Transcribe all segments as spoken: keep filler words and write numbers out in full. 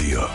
რადიო.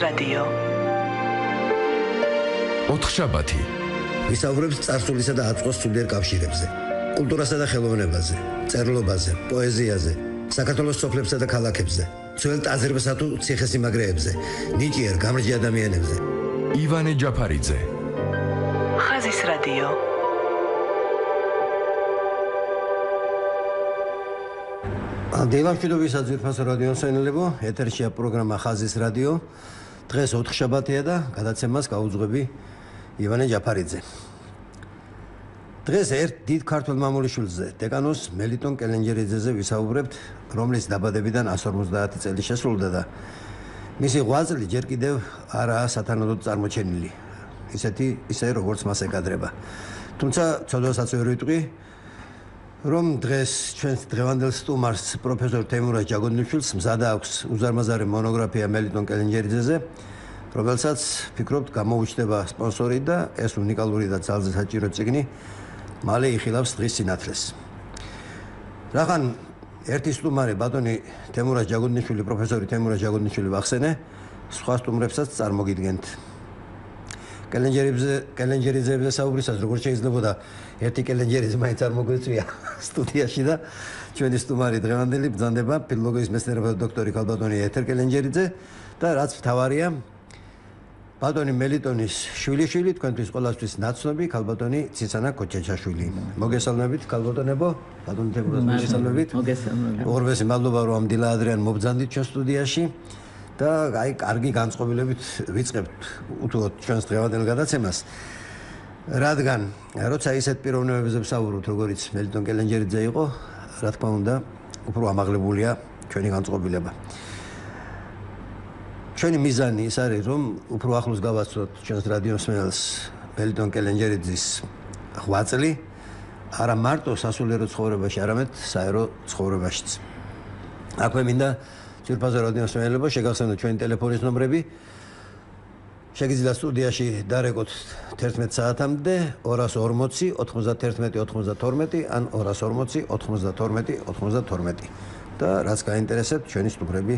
რადიო ოთხშაბათი ვისაუბრებს წარსულისა და აწმყოს სულიერ კავშირებზე, კულტურასა და ხელოვნებაზე, წერლობაზე, პოეზიაზე, საქართველოს სოფლებსა და ქალაქებზე, ძველ ტაძრებსა თუ ციხესიმაგრეებზე, ნიჭიერ გამრჯი ადამიანებზე. ივანე ჯაფარიძე. ხაზის რადიო. დილამშვიდობისა ძვირფასო რადიო მსმენელებო, ეთერშია პროგრამა ხაზის რადიო. დღეს ოთხშაბათია და გადაცემას გაუძღვები ივანე ჯაფარიძე. დღეს ერთ დიდ ქართველ მამულიშვილზე, დეკანოს მელიტონ კელენჯერიძეზე ვისაუბრებთ, რომლის დაბადებიდან εκατს ორმოცდაათი წელი შესრულდა და მისი ღვაწლი ჯერ კიდევ არაა სათანადოდ წარმოჩენილი, ისეთი ისე როგორც მას ეკადრება. თუმცა ცოდვასაც ვერ ვიტყვი, რომ დღეს ჩვენს დღევანდელ სტუმარს პროფესორ თემურაზ ჯაგოდნიშვილს მზად აქვს უზარმაზარი მონოგრაფია მელიტონ კელენჯერიძეზე, რომელსაც ფიქრობთ გამოუჩნდება სპონსორი და ეს უნიკალური და ძალზე საჭირო წიგნი მალე იხილავს დღის სინათლეს. რახან ერთი სტუმარი ბატონი თემურაზ ჯაგოდნიშვილი, პროფესორი თემურაზ ჯაგოდნიშვილი ვახსენე, სხვა სტუმრებსაც წარმოგიდგენთ. კელენჯერიძე კელენჯერიძეზე საუბრისას როგორც შეიძლებოდა ერთი კელენჯერიძე მაინც არ მოგვეწვია სტუდიაში და ჩვენი სტუმარი დღევანდელი ბრძანდება ფილოლოგიის მეცნიერებათა დოქტორი ქალბატონი ეთერ კელენჯერიძე და რაც მთავარია ბატონი მელიტონის შვილიშვილი, თქვენთვის ყველასთვის ნაცნობი ქალბატონი ციცანა კოჩაჩაშვილი. მოგესალმებით ქალბატონებო, ბატონი თემურაზ მოგესალმებით. მოგესალმებით. ორვესი მადლობა რომ ამ დილა ადრიან მობრძანდით ჩვენ სტუდიაში. და აი კარგი განწყობილებით ვიწყებთ უთუოდ ჩვენს დღევანდელ გადაცემას. რადგან როცა ისეთ პიროვნებებზე ვსაუბრობთ, როგორიც მელიტონ კელენჯერიძე იყო, რა თქმა უნდა, უფრო ამაღლებულია ჩვენი განწყობილება. ჩვენი მიზანი ის არის, რომ უფრო ახლოს გავაცნოთ ჩვენს რადიო მსმენელს მელიტონ კელენჯერიძის ღვაწლი, არა მარტო სასულიერო ცხოვრებაში, არამედ საერო ცხოვრებაშიც. აქვე მინდა ძვირფასო რადიო მსმენელებო, შეგახსენოთ ჩვენი ტელეფონის ნომრები. შეგიძლიათ სტუდიაში დარეკოთ თერთმეტ საათამდე ორას ორმოცი ოთხმოცდათერთმეტი ოთხმოცდათორმეტი ან ორას ორმოცი ოთხმოცდათორმეტი ოთხმოცდათორმეტი და რაც გაინტერესებთ ჩვენი სტუმრები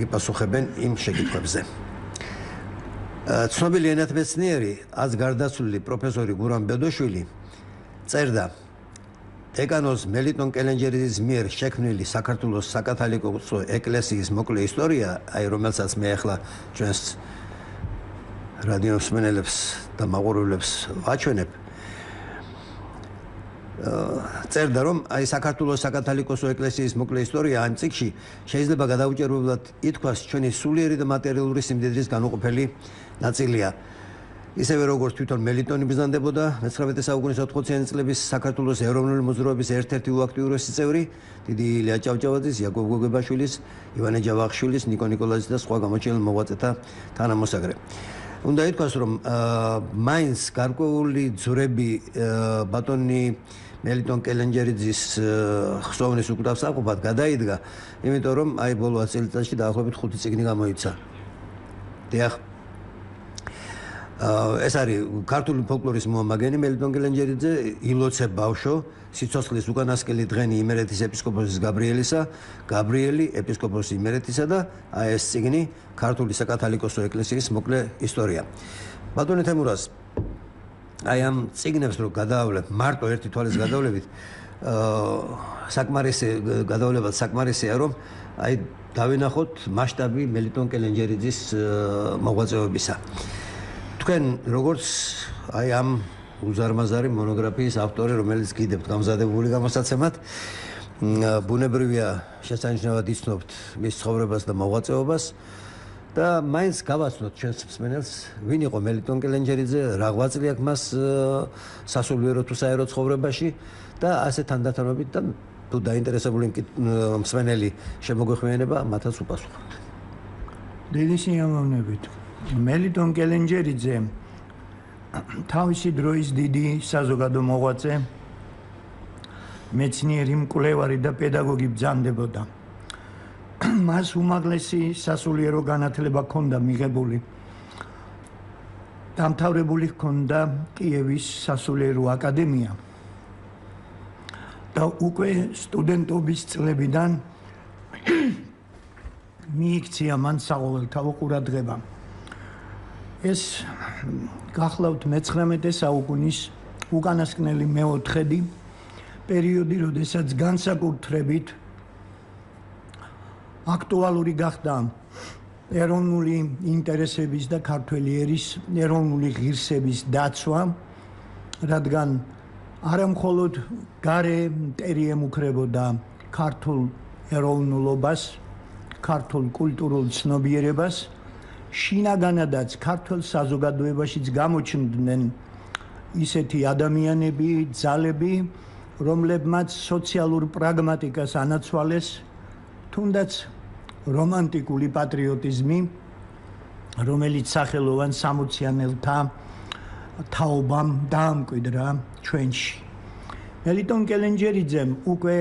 გიპასუხებენ იმ შეკითხვებზე. ცნობილი ენათმეცნიერი, ას გარდაცვლილი პროფესორი გურამ ბედოშვილი წერდა დეკანოს მელიტონ კელენჯერიძის მიერ შექმნილი საქართველოს საკათალიკოსო ეკლესიის მოკლე ისტორია, აი რომელსაც მე ახლა ჩვენს რადიო მსმენელებს და მაყურებლებს ვაჩვენებ. წერდა რომ აი საქართველოს საკათალიკოსო ეკლესიის მოკლე ისტორია ამ წიგნში შეიძლება გადაუჭერებლად ითქვას ჩვენი სულიერი და მატერიალური სიმდიდრის განუყოფელი ნაწილია. ისევე როგორც თვითონ მელიტონი ბრძანდებოდა მეცხრამეტე საუკუნის ოთხმოციანი წლების საქართველოს ეროვნული მოძრაობის ერთ-ერთი უაქტიურესი წევრი, დიდი ილია ჭავჭავაძის, იაკობ გოგებაშვილის, ივანე ჯავახიშვილის, ნიკო ნიკოლაძის და სხვა გამოჩენილ მოღვაწეთა თანამოსაგრე. უნდა ითქვას, რომ მაინც გარკვეული ძვრები ბატონი მელიტონ კელენჯერიძის ხსოვნის უკდავსაყოფად გადაიდგა, იმიტომ რომ აი ბოლო ათი წელიწადში დაახლოებით ხუთი წიგნი გამოიცა. დიახ. ეს არის ქართული ფოლკლორის მოამაგენი მელიტონ კელენჯერიძე, ილოცე ბავშვო, სიცოცხლის უკანასკელი დღენი იმერეთის ეპისკოპოსის გაბრიელისა, გაბრიელი ეპისკოპოსის იმერეთისა და აი ეს წიგნი ქართული საკათალიკოსო ეკლესიის მოკლე ისტორია. ბატონი თემურაზ, აი ამ წიგნებს რო გადაავლებ, მარტო ერთი თვალის გადავლებით, საკმარისი გადავლებად საკმარისია, რომ აი დავინახოთ მასშტაბი მელიტონ კელენჯერიძის მოღვაწეობისა. თქვენ როგორც აი ამ უზარმაზარი მონოგრაფიის ავტორი, რომელიც გიდებთ გამზადებული გამოსაცემად, ბუნებრივია შესანიშნავად იცნობთ მის ცხოვრებას და მოღვაწეობას და მაინც გავაცნოთ ჩვენს მსმენელს, ვინ იყო მელიტონ კელენჯერიძე, რა ღვაწლი აქვს მას სასულიერო თუ საერო ცხოვრებაში და ასე თანდათანობით და თუ დაინტერესებული მსმენელი შემოგვეხმიანება, მათაც უპასუხოთ. დიდი სიამოვნებით. მელიტონ კელენჯერიძე თავისი დროის დიდი საზოგადო მოღვაწე, მეცნიერი, მკვლევარი და პედაგოგი ბრძანდებოდა. მას უმაღლესი სასულიერო განათლება ჰქონდა მიღებული. დამთავრებული ჰქონდა კიევის სასულიერო აკადემია. და უკვე სტუდენტობის წლებიდან მიიქცია მან საყოველთაო ყურადღება. ეს გახლავთ მეცხრამეტე საუკუნის უკანასკნელი მეოთხედი პერიოდი, როდესაც განსაკუთრებით აქტუალური გახდა ეროვნული ინტერესების და ქართველი ერის ეროვნული ღირსების დაცვა, რადგან არა მხოლოდ გარე მტერი ემუქრებოდა ქართულ ეროვნულობას, ქართულ კულტურულ ცნობიერებას, შინაგანადაც ქართულ საზოგადოებაშიც გამოჩნდნენ ისეთი ადამიანები, ძალები, რომლებმაც სოციალურ პრაგმატიკას ანაცვალეს, თუნდაც რომანტიკული პატრიოტიზმი, რომელიც სახელოვან სამოციანელთა თაობამ დაამკვიდრა ჩვენში. მელიტონ კელენჯერიძემ უკვე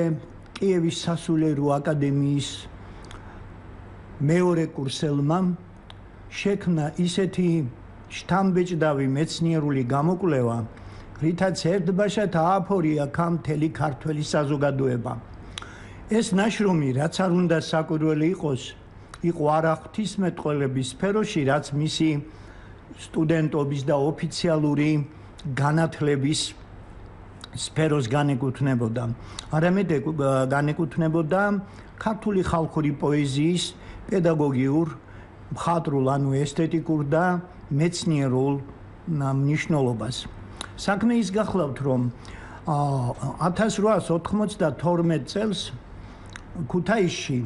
კიევის სასულიერო აკადემიის მეორე კურსელმა შექმნა ისეთი შთამბეჭდავი მეცნიერული გამოკვლევა, რითაც ერთბაშად ააფორია ქამ მთელი ქართველი საზოგადოება. ეს ნაშრომი, რაც არ უნდა საკვირველი იყოს, იყო არა ღვთისმეტყველების სფეროში, რაც მისი სტუდენტობის და ოფიციალური განათლების სფეროს განეკუთვნებოდა. არამედ განეკუთვნებოდა ქართული ხალხური პოეზიის პედაგოგიურ, მხატვრულ, ანუ ესთეტიკურ და მეცნიერულ მნიშვნელობას. საქმე ის გახლავთ, რომ ათას რვაას ოთხმოცდათორმეტ წელს ქუთაისში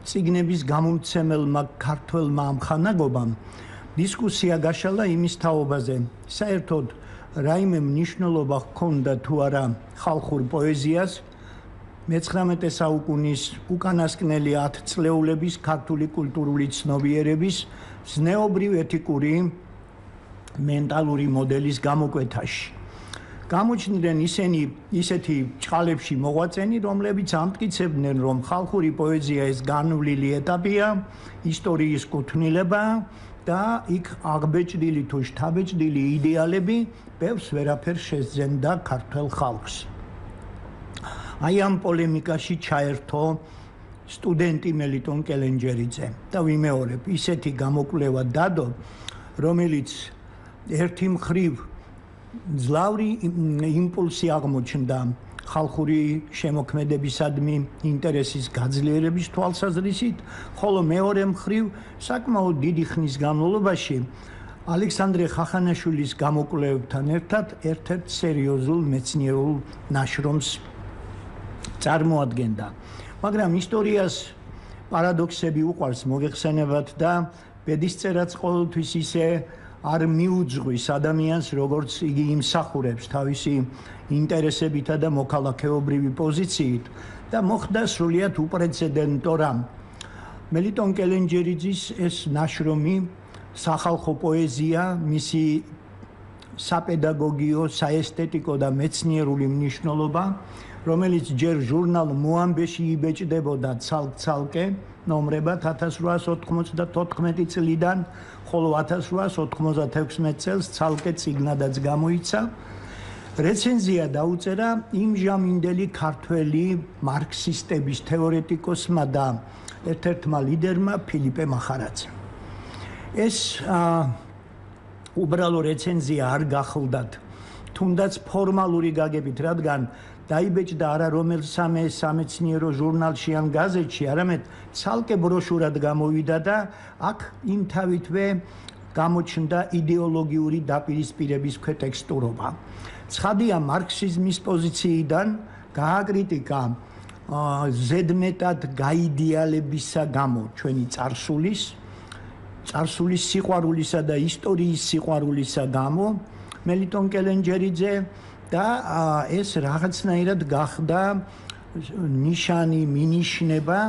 წიგნების გამომცემელმა ქართველმა ამხანაგობამ დისკუსია გაშალა იმის თაობაზე, საერთოდ რაიმე მნიშვნელობა ჰქონდა თუ არა ხალხურ პოეზიას მეცხრამეტე საუკუნის უკანასკნელი ათწლეულების ქართული კულტურული ცნობიერების ზნეობრივ ეთიკური მენტალური მოდელის გამოკვეთაში. გამოჩნდნენ ისინი ისეთი ჭყალებში მოღვაწენი, რომლებიც ამტკიცებდნენ, რომ ხალხური პოეზია ეს განვლილი ეტაპია, ისტორიის კუთვნილება და იქ აღბეჭდილი თუ შთაბეჭდილი იდეალები ბევრს ვერაფერს შესძენდა ქართულ ხალხს. აი ამ პოლემიკაში ჩაერთო სტუდენტი მელიტონ კელენჯერიძე და ვიმეორებ, ისეთი გამოკვლევა დადო, რომელიც ერთი მხრივ ძლავრი იმპულსი აღმოჩნდა ხალხური შემოქმედებისადმი ინტერესის გაძლიერების თვალსაზრისით, ხოლო მეორე მხრივ საკმაოდ დიდი ხნის განმავლობაში ალექსანდრე ხახანაშვილის გამოკვლევებთან ერთად ერთ-ერთ სერიოზულ მეცნიერულ ნაშრომს წარმოადგენდა. მაგრამ ისტორიას პარადოქსები უყვარს მოგეხსენებათ და ბედისწერაც ყოველთვის ისე არ მიუძღვის ადამიანს, როგორც იგი იმსახურებს თავისი ინტერესებითა და მოქალაქეობრივი პოზიციით და მოხდა სრულიად უპრეცედენტო რამ. მელიტონ კელენჯერიძის ეს ნაშრომი სახალხო პოეზია, მისი საპედაგოგიო, საესთეტიკო და მეცნიერული მნიშვნელობა, რომელიც ჯერ ჟურნალ მოამბეში იბეჭდებოდა ცალკ-ცალკე ნომრებად ათას რვაას ოთხმოცდათოთხმეტი წლიდან, ხოლო ათას რვაას ოთხმოცდათექვსმეტ წელს ცალკე წიგნადაც გამოიცა. რეცენზია დაუწერა იმჟამინდელი ქართველი მარქსისტების თეორეტიკოსმა და ერთ-ერთმა ლიდერმა ფილიპე მახარაძემ. ეს უბრალო რეცენზია არ გახლდათ, თუნდაც ფორმალური გაგებით, რადგან დაიბეჭდა არა რომელ სამე სამეცნიერო ჟურნალში ან გაზეთში, არამედ ცალკე ბროშურად გამოვიდა და აქ იმთავითვე გამოჩნდა იდეოლოგიური დაპირისპირების ქვეტექსტურობა. ცხადია, მარქსიზმის პოზიციიდან გააკრიტიკა ზედმეტად გაიდეალებისა გამო ჩვენი წარსულის, წარსულის სიყვარულისა და ისტორიის სიყვარულისა გამო მელიტონ კელენჯერიძე და ეს რაღაცნაირად გახდა ნიშანი მინიშნება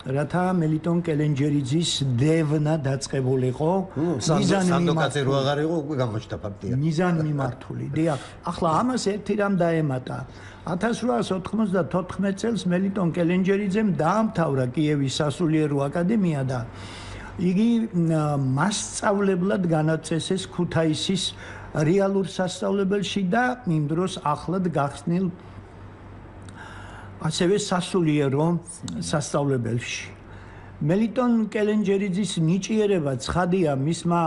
რათა მელიტონ კელენჯერიძის დევნა დაწყებულიყო სანდოკაცი რო აღარ იყო უკვე გამოჩნდა ფაქტია მიზან მიმართული დიახ ახლა ამას ერთი რამ დაემატა ათას რვაას ოთხმოცდათოთხმეტ წელს მელიტონ კელენჯერიძემ დაამთავრა კიევის სასულიერო აკადემია და იგი მასწავლებლად განაწესეს ქუთაისის რეალურ სასწავლებელში და იმ დროს ახლად გახსნილ ასევე სასულიერო სასწავლებელში. მელიტონ კელენჯერიძის ნიჭიერება ცხადია მისმა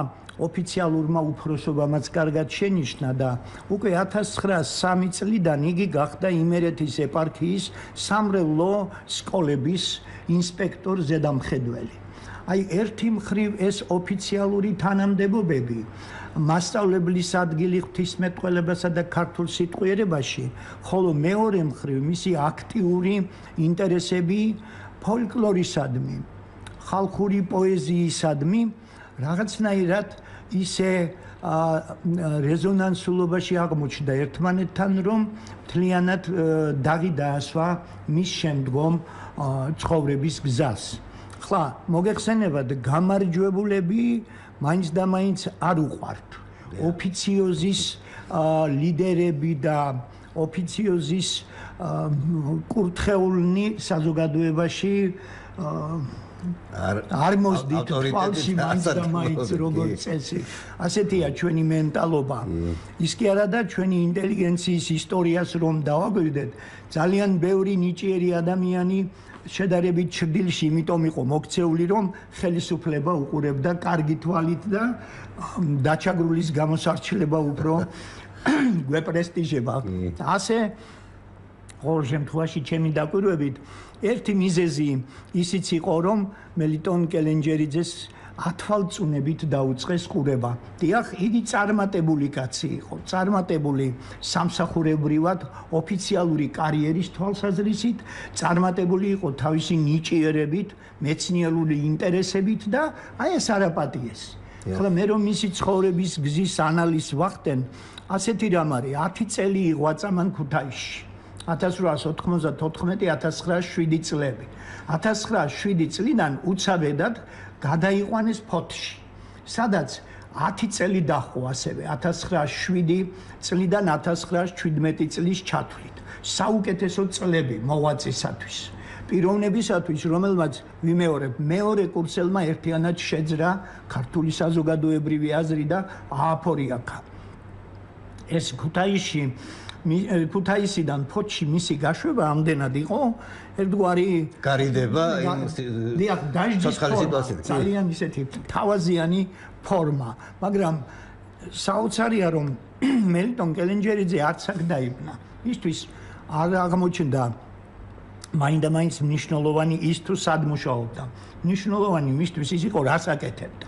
ოფიციალურმა უფროსობამაც კარგად შენიშნა და უკვე ათას ცხრაას სამი წლიდან იგი გახდა იმერეთის ეპარქიის სამრევლო სკოლების ინსპექტორ ზედამხედველი. აი ერთი მხრივ ეს ოფიციალური თანამდებობები მასწავლებლის ადგილი ღვთისმეტყველებასა და ქართულ სიტყვიერებაში, ხოლო მეორე მხრივ მისი აქტიური ინტერესები ფოლკლორისადმი, ხალხური პოეზიისადმი რაღაცნაირად ისე რეზონანსულობაში აღმოჩნდა ერთმანეთთან, რომ მთლიანად დაღი დაასვა მის შემდგომ ცხოვრების გზას. ხლა მოგეხსენებათ გამარჯვებულები მაინც და მაინც არ უყვართ. ოფიციოზის ლიდერები და ოფიციოზის კურთხეულნი საზოგადოებაში არ მოსდით თვალში მაინც და მაინც როგორც წესი. ასეთია ჩვენი მენტალობა. ის კი არა და ჩვენი ინტელიგენციის ისტორიას რომ დავაგვირდეთ, ძალიან ბევრი ნიჭიერი ადამიანი შედარებით ჭრდილში იმიტომ იყო მოქცეული რომ ხელისუფლება უყურებდა კარგი თვალით და დაჩაგრულის გამოსარჩილება უფრო გვეპრესტიჟება. ასე ყოველ შემთხვევაში ჩემი დაკვირვებით ერთი მიზეზი ისიც იყო რომ მელიტონ კელენჯერიძეს ათვალწუნებით დაუწყეს ყურება. დიახ, იგი წარმატებული კაცი იყო, წარმატებული სამსახურებრივად ოფიციალური კარიერის თვალსაზრისით, წარმატებული იყო თავისი ნიჭიერებით, მეცნიერული ინტერესებით და აი ეს არაპატიეს. ახლა მე რომ მისი ცხოვრების გზის ანალიზს ვახდენ, ასეთი რამ არის, ათი წელი იღვაწა მან ქუთაისში. ათას რვაას ოთხმოცდათოთხმეტი ათას ცხრაას შვიდი წლები. ათას ცხრაას შვიდი წლიდან უცაბედად გადაიყვანეს ფოთში, სადაც ათი წელი დაჰყო ასევე ათას ცხრაას შვიდი წლიდან ათას ცხრაას ჩვიდმეტი წლის ჩათვლით. საუკეთესო წლები მოღვაწისათვის. პიროვნებისათვის, რომელმაც ვიმეორებ, მეორე კურსელმა ერთიანად შეძრა ქართული საზოგადოებრივი აზრი და ააფორიაქა. ეს ქუთაისში ქუთაისიდან ფოთში მისი გაშვება ამდენად იყო ერთგვარი გარიდება დიახ დაჟდის ფორმა ძალიან ისეთი თავაზიანი ფორმა მაგრამ საოცარია რომ მელიტონ კელენჯერიძე არც აქ დაიბნა ისთვის არ აღმოჩნდა მაინდა-მაინც მნიშვნელოვანი ის თუ სად მუშაობდა მნიშვნელოვანი მისთვის ის იყო რას აკეთებდა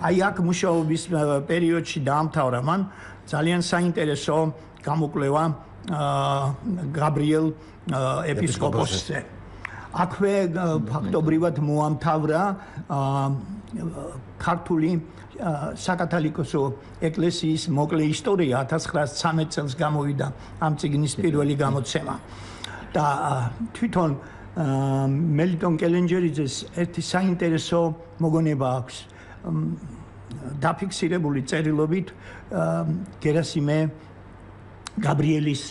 აი აქ მუშაობის პერიოდში დაამთავრა მან ძალიან საინტერესო გამოკვლევა გაბრიელ ეპისკოპოსზე. აქვე ფაქტობრივად მოამთავრა ქართული საკათალიკოსო ეკლესიის მოკლე ისტორია ათას ცხრაას ცხრამეტ წელს გამოვიდა ამ წიგნის პირველი გამოცემა. და თვითონ მელიტონ კელენჯერიძეს ერთი საინტერესო მოგონება აქვს დაფიქსირებული წერილობით გერასიმე გაბრიელის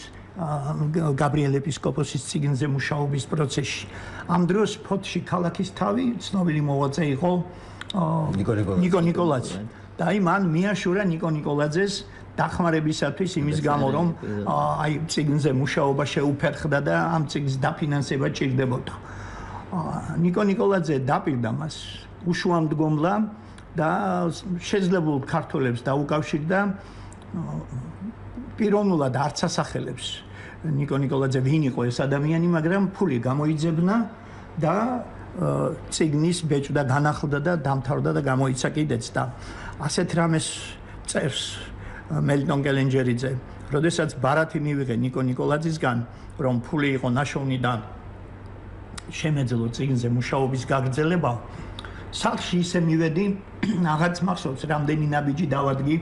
გაბრიელ ეპისკოპოსის წიგნზე მუშაობის პროცესში. ამ დროს ფოთში ქალაქის თავი ცნობილი მოღვაწე იყო ნიკო ნიკოლაძე. და აი მან მიაშურა ნიკო ნიკოლაძეს დახმარებისათვის იმის გამო რომ აი წიგნზე მუშაობა შეუფერხდა და ამ წიგნის დაფინანსება ჭირდებოდა. ნიკო ნიკოლაძე დაპირდა მას უშუამდგომლა და შეძლებულ ქართველებს დაუკავშირდა პიროვნულად არც ასახელებს ნიკო ნიკოლაძე ვინ იყო ეს ადამიანი, მაგრამ ფული გამოიძებნა და წიგნის ბეჭდა განახლდა და დამთავრდა და გამოიცა კიდეც და ასეთ რამეს წერს მელიტონ კელენჯერიძე, როდესაც ბარათი მივიღე ნიკო ნიკოლაძისგან, რომ ფული იყო ნაშოვნი და შემეძლო წიგნზე მუშაობის გაგრძელება, სახლში ისე მივედი, აღარც მახსოვს რამდენი ნაბიჯი დავადგი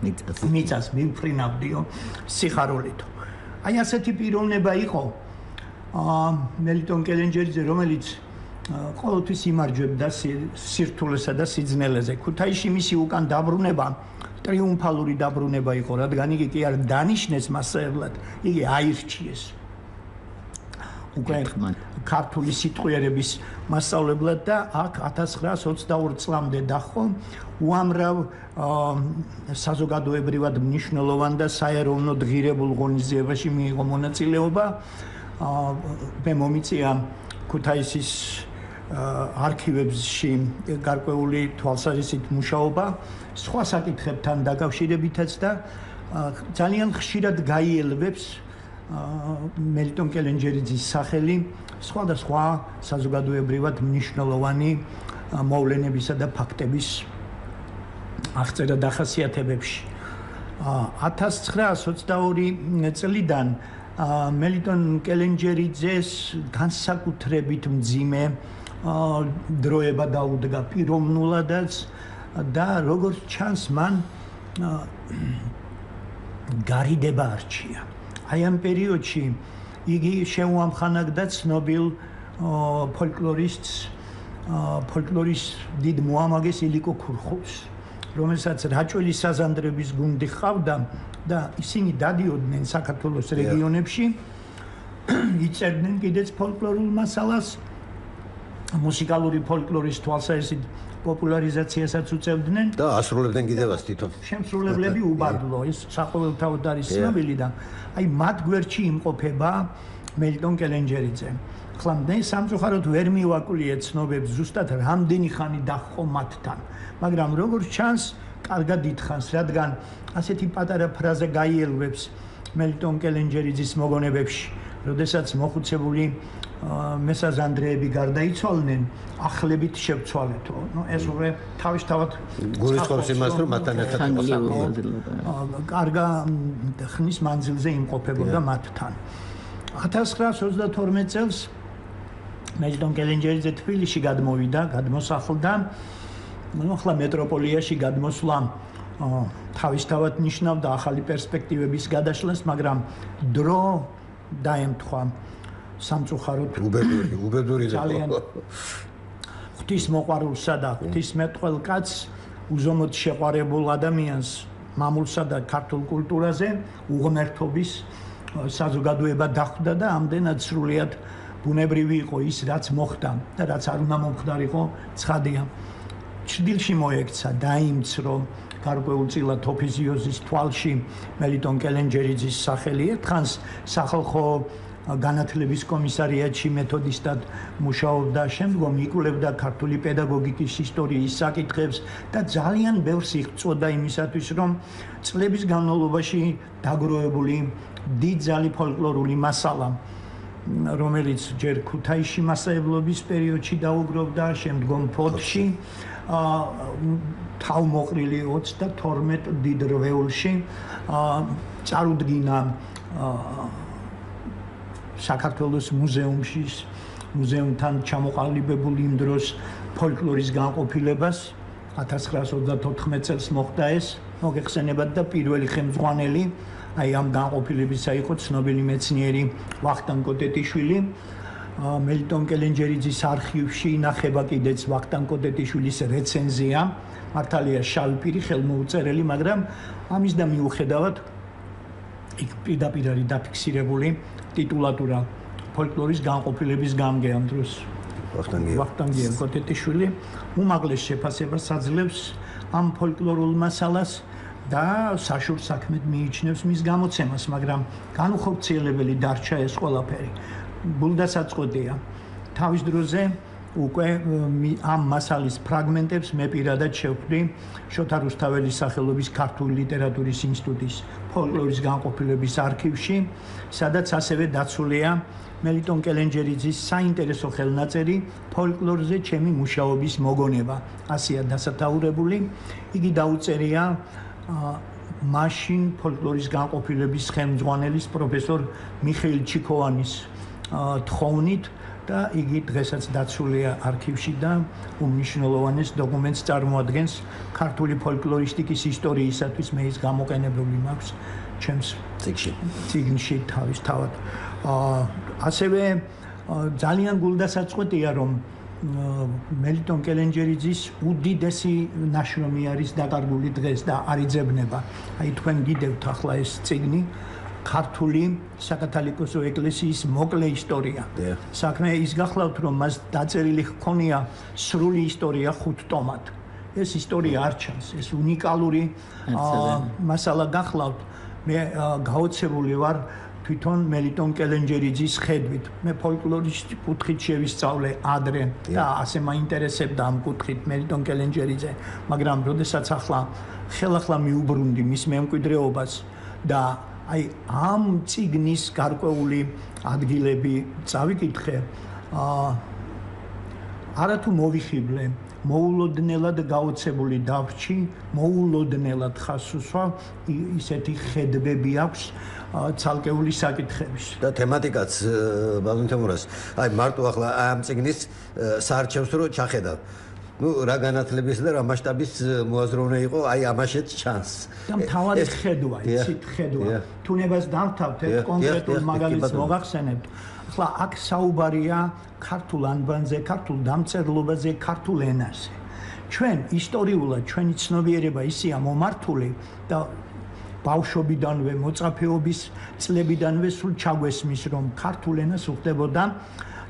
მიწას მივფრინავდიო სიხარულით. აი ასეთი პიროვნება იყო მელიტონ კელენჯერიძე, რომელიც ყოველთვის იმარჯვებდა სირთულესა და სიძნელეზე. ქუთაისში მისი უკან დაბრუნება ტრიუმფალური დაბრუნება იყო, რადგან იგი კი არ დანიშნეს მასწავლებლად, იგი აირჩიეს. უკვე ქართული სიტყვიერების მასწავლებლად და აქ ათას ცხრაას ოცდაორი წლამდე დაჰყო უამრავ საზოგადოებრივად მნიშვნელოვან და საეროვნო ღირებულ ღონისძიებაში მიიღო მონაწილეობა. მე მომიწია ქუთაისის არქივებში გარკვეული თვალსაზრისით მუშაობა სხვა საკითხებთან დაკავშირებითაც და ძალიან ხშირად გაიელვებს მელიტონ კელენჯერიძის სახელი სხვადასხვა საზოგადოებრივად მნიშვნელოვანი მოვლენებისა და ფაქტების აღწერა დახასიათებებში. ათას ცხრაას ოცდაორი წლიდან მელიტონ კელენჯერიძეს განსაკუთრებით მძიმე დროება დაუდგა პიროვნულადაც და როგორც ჩანს მან გარიდება არჩია. აი ამ პერიოდში იგი შეუამხანაგდა ცნობილ ფოლკლორისტს ფოლკლორის დიდ მოამაგეს ილიკო ქურხულს, რომელსაც რაჭველი საზანდრების გუნდი ჰყავდა და ისინი დადიოდნენ საქართველოს რეგიონებში, იწერდნენ კიდეც ფოლკლორულ მასალას, მუსიკალური ფოლკლორის თვალსაზრისით პოპულარიზაციასაც უწევდნენ და ასრულებდნენ კიდევაც თვითონ. შემსრულებლები უბადლო, ეს საყოველთაოდ არის ცნობილი და აი მათ გვერდში იმყოფება მელიტონ კელენჯერიძე. ახლა მე სამწუხაროდ ვერ მივაკვლიე ცნობებს ზუსტად რამდენი ხანი დაჰყო მათთან, მაგრამ როგორც ჩანს, კარგად ითხოვს, რადგან ასეთი პატარა ფრაზა გაიელვებს მელიტონ კელენჯერიძის მოგონებებში, როდესაც მოხუცებული მესაზანდრეები გარდაიცვალნენ, ახლებით შევცვალეთო. ნუ ეს უკვე თავისთავად გულისხმობს იმას, რომ მათთან ერთად კარგა ხნის მანძილზე იმყოფებოდა მათთან. ათას ცხრაას ოცდათორმეტ წელს მელიტონ კელენჯერიძე თბილისში გადმოვიდა, გადმოსახლდა. ნუ ახლა მეტროპოლიაში გადმოსვლა თავისთავად ნიშნავდა ახალი პერსპექტივების გადაშლას, მაგრამ დრო დაემთხვა სამწუხაროდ უბედური, უბედური ძალიან ღვთის მოყვარულსა და ღვთისმეტყველ კაცს, უზომოდ შეყვარებულ ადამიანს, მამულსა და ქართულ კულტურაზე უღმერთობის საზოგადოება დახვდა და ამდენად სრულიად ბუნებრივი იყო ის, რაც მოხდა და რაც არ უნდა მომხდარიყო, ცხადია. ჩრდილში მოექცა, დაიმცრო გარკვეულწილად ოფიზიოზის თვალში მელიტონ კელენჯერიძის სახელი. ერთხანს სახალხო განათლების კომისარიატში მეთოდისტად მუშაობდა, შემდგომ იკვლევდა ქართული პედაგოგიკის ისტორიის საკითხებს და ძალიან ბევრს იღწვოდა იმისათვის, რომ წლების განმავლობაში დაგროვებული დიდძალი ფოლკლორული მასალა, რომელიც ჯერ ქუთაისში მასწავლებლობის პერიოდში დაუგროვდა, შემდგომ ფოთში, თავმოყრილი ოცდათორმეტ დიდ რვეულში წარუდგინა საქართველოს მუზეუმში, მუზეუმთან ჩამოყალიბებულ იმ დროს ფოლკლორის განყოფილებას ათას ცხრაას ოცდათოთხმეტ წელს მოხდა ეს, მოგეხსენებათ და პირველი ხელმძღვანელი აი ამ განყოფილებისა იყო ცნობილი მეცნიერი ვახტანგ კოტეტიშვილი. მელიტონ კელენჯერიძის არქივში ინახება კიდეც ვახტანგ კოტეტიშვილის რეცენზია, მართალია შავი ხელმოუწერელი, მაგრამ ამის და მიუხედავად იქ პირდაპირ არის დაფიქსირებული ტიტულატურა ფოლკლორის განყოფილების გამგე ამ დროს. ვახტანგ კოტეტიშვილი უმაღლეს შეფასებას აძლევს ამ ფოლკლორულ მასალას და საშურ საქმედ მიიჩნევს მის გამოცემას, მაგრამ განუხორციელებელი დარჩა ეს ყველაფერი. ბულდასაწყოდია. თავის დროზე უკვე ამ მასალის ფრაგმენტებს მე პირადად შევხვდი შოთა რუსთაველის სახელობის ქართული ლიტერატურის ინსტიტუტის ფოლკლორის განყოფილების არქივში, სადაც ასევე დაცულია მელიტონ კელენჯერიძის საინტერესო ხელნაწერი ფოლკლორზე ჩემი მუშაობის მოგონება. ასეა დასათაურებული. იგი დაუწერია მაშინ ფოლკლორის განყოფილების ხელმძღვანელის პროფესორ მიხეილ ჩიქოვანის თხოვნით, და იგი დღესაც დაცულია არქივში და უმნიშვნელოვანეს დოკუმენტს წარმოადგენს ქართული ფოლკლორისტიკის ისტორიისათვის მე ის გამოყენებული მაქვს ჩემს წიგნში. წიგნში თავისთავად. ასევე ძალიან გულდასაწყვეტია რომ მელიტონ კელენჯერიძის უდიდესი ნაშრომი არის დაკარგული დღეს და არ იძებნება. აი თქვენ გიდევთ ახლა ეს წიგნი ქართული საკათალიკოსო ეკლესიის მოკლე ისტორია. საქმე ის გახლავთ რომ მას დაწერილი ჰქონია სრული ისტორია ხუთ ტომად. ეს ისტორია არ ჩანს, ეს უნიკალური მასალა გახლავთ. მე გაოცებული ვარ თვითონ მელიტონ კელენჯერიძის ხედვით. მე ფოლკლორისტი კუთხით შევისწავლე ადრე და ასე მაინტერესებდა ამ კუთხით მელიტონ კელენჯერიძე, მაგრამ როდესაც ახლა ხელახლა მიუბრუნდი მის მემკვიდრეობას და აი ამ წიგნის გარკვეული ადგილები წავიკითხე, აა არათუ მოვიხიბლე, მოულოდნელად გაოცებული დავრჩი, მოულოდნელად ხას უსვა, ისეთი ხედვები აქვს ცალკეული საკითხების. და თემატიკაც ბატონ თემურას, აი მარტო ახლა ამ წიგნის საარჩევს რო ჩახედავ. ნუ რა განათლების და რა მასშტაბის მოაზროვნე იყო, აი ამაშეც ჩანს. და მთავარი ხედვა, იცით ხედვა. თუნებას დავთავთ ერთ კონკრეტულ მაგალითს მოგახსენებთ. ახლა აქ საუბარია ქართულ ანბანზე, ქართულ დამწერლობაზე, ქართულ ენაზე. ჩვენ ისტორიულად ჩვენი ცნობიერება ისეა მომართული და ბავშვობიდანვე, მოწაფეობის წლებიდანვე სულ ჩაგვესმის, რომ ქართულ ენას უხდებოდა